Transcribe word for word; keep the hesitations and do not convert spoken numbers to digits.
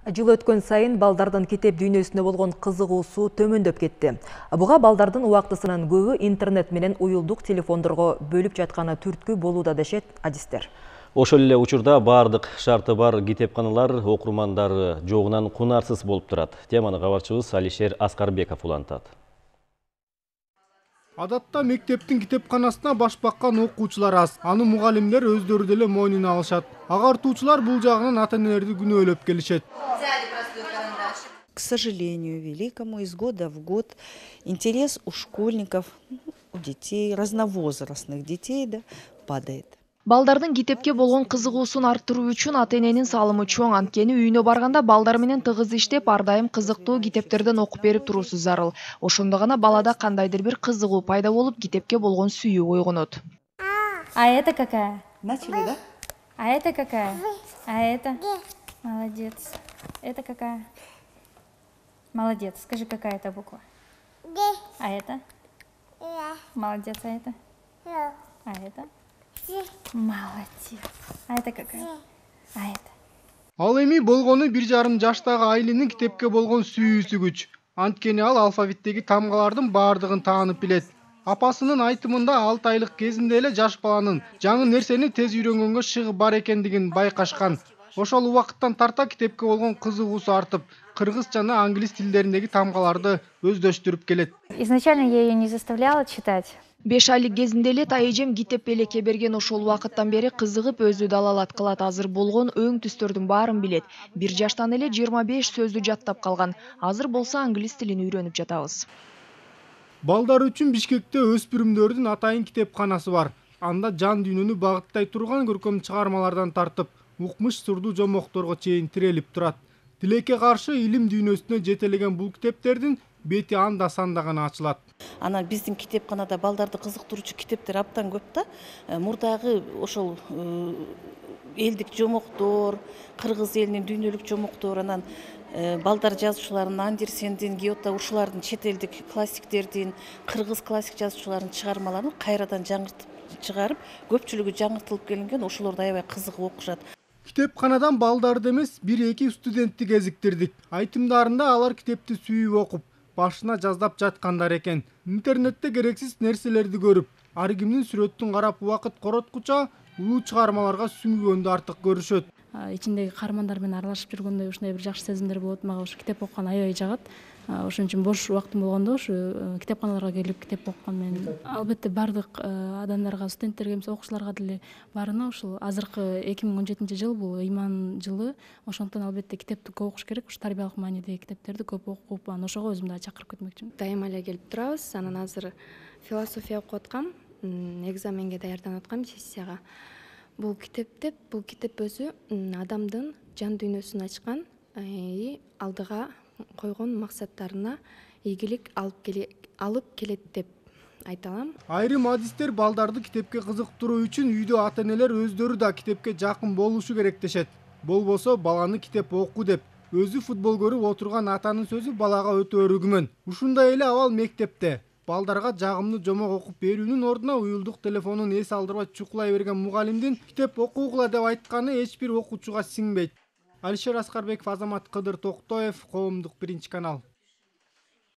Жыл өткөн сайын балдардын китеп дүйнөсүнө болгон кызыгуусу төмөндөп кетти. Буга балдардын убактысынын көбү интернет менен уюлдук телефондорго бөлүп жатканы түрткү болууда дешет адистер. Ошол эле учурда бардык шарты бар китепканалар окурмандары жогунан кунарсыз болуп турат. Теманы кабарчыбыз Алишер Аскарбеков улантат. Адатта мектептин китепканасына баш баккан окуучулар аз. Аны мугалимдер өздөрү деле мойнуна алышат. Агартуучулар бул жагынан ата-энелерди күнөөлөп келишет. К сожалению, великому, из года в год интерес у школьников, у детей, разновозрастных детей, да, падает. Балдардын китепке болгон кызыгуусун арттыруу үчүн ата-эненин салымы чоң, анткени үйүнө барганда балдар менен тыгыз иштеп, ар дайым кызыктуу китептерден окуп берип туруусу зарыл. Ошондо гана балада кандайдыр бир кызыгуу пайда болуп, китепке болгон сүйүү ойгонот. А это какая? Начали, да? А это какая? А это? Молодец. Это какая? Молодец. Скажи, какая это буква? А это? Молодец. А это? А это? Молодец. А это какая? А это? Ал эми болгону бир жарым жаштагы Айлинин китепке болгон сүйүүсү күч. Анткени ал алфавиттеги тамгалардын бардыгын таанып билет. Апасынын айтымында алты айлык кезинде эле жаш баланын жаңы нерсени тез үйрөнгөнгө шыгы бар экендигин байкашкан. Ошол убакыттан тарта китепке болгон кызыгуусу артып, кыргыз жана англис тилдериндеги тамгаларды өздөштүрүп келет. Изначально я ее не заставляла читать. Беш айлык кезинде эле тайэжем китеп белекке берген, ошол убакыттан бери кызыгып өзү далалат кылат, азыр болгон өң түстөрдүн баарын билет. Бир жаштан эле жыйырма беш сөздү жаттап калган. Азыр болсо англис тилин үйрөнүп жатабыз. Балдар үчүн Бишкекте өспүрүмдөрдүн атайын китепканасы бар. Анда жан дүйнөнү багыттай турган көркөм чыгармалардан тартып, укмуш сырдуу жомокторго чейин тирелип турат. Тилекке каршы илим дүйнөсүнө жетелеген бул китептердин бети анда санда гана ачылат. Анан биздин китепканада балдарды кызыктыруучу китептер абдан көп да. Мурдагы ошол элдик жомоктор, кыргыз элинин дүйнөлүк жомоктору, анан балдар жазуучуларынын Андерсендин, Гёте ушулардын чет элдик классиктердин, кыргыз классик жазуучуларынын чыгармаларын кайрадан жаңыртып чыгарып, көпчүлүгү жаңыртылып келинген, ошолорду аябай кызыгып окушат. Китепканадан балдарды эмес, бир-эки студентти кезиктирдик. Айтымдарында алар китепти сүйүп окуп, башына жаздап жаткандар экен. Интернетте керексиз нерселерди көрүп, ар кимдин сүрөтүн карап убакыт короткуча улуу чыгармаларга сүңгүгөндү артык көрүшөт. Ичиндеги каармандар менен аралашып жүргөндө ушундай бир жакшы сезимдер болот. Мага ушу китеп окуган аябай жагат. Ошон үчүн бош убактым болгондо ушу китепканаларга келип китеп окуган мен. Албетте бардык адамдарга, студенттерге эмес окуучуларга деле баарына ушул азыркы эки миң он жетинчи жыл бул ыйман жылы. Ошондуктан албетте китепти көп окуш керек. Ушу тарбиялык маанидеги китептерди көп окуп, анан ошого өзүм дагы чакырып кетмекчимин. Дайыма эле келип турабыз. Анан азыр философия окуп аткам, экзаменге даярданып аткам, сессияга. Бул китепте, бул китеп өзү адамдын жан дүйнөсүн ачкан, алдыга койгон максаттарына ийгилик алып келе алып келет деп айта алам. Айрым адистер балдарды китепке кызыктыруу үчүн үйдө ата-энелер өздөрү да китепке жакын болушу керек дешет. Болбосо баланы китеп оку деп, өзү футбол көрүп отурган атанын сөзү балага өтө өрүгүмөн. Ушундай эле абал мектепте. Балдарга жагымдуу жомок окуп берүүнүн ордуна уюлдук телефонун эс алдырбай чукулай берген мугалимдин китеп окугула деп айтканы эч бир окуучуга сиңбейт. Алишер Аскарбеков, Азамат Кыдыр Токтоев, Коомдук биринчи канал.